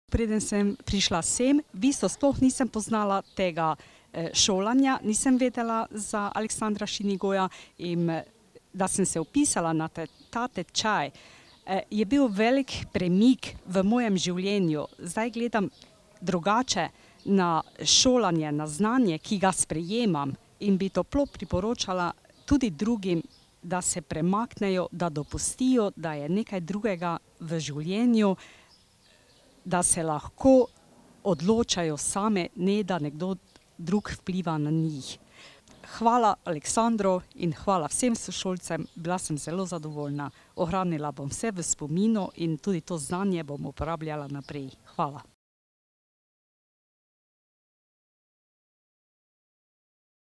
Preden sem prišla sem, v bistvu sploh nisem poznala tega šolanja, nisem vedela za Aleksandra Šinigoja in da sem se vpisala na ta tečaj, je bil velik premik v mojem življenju. Zdaj gledam drugače na šolanje, na znanje, ki ga sprejemam, in bi toplo priporočala tudi drugim, da se premaknejo, da dopustijo, da je nekaj drugega v življenju, da se lahko odločajo same, ne da nekdo drug vpliva na njih. Hvala Aleksandru in hvala vsem sošolcem, bila sem zelo zadovoljna. Ohranila bom vse v spominu in tudi to znanje bom uporabljala naprej. Hvala.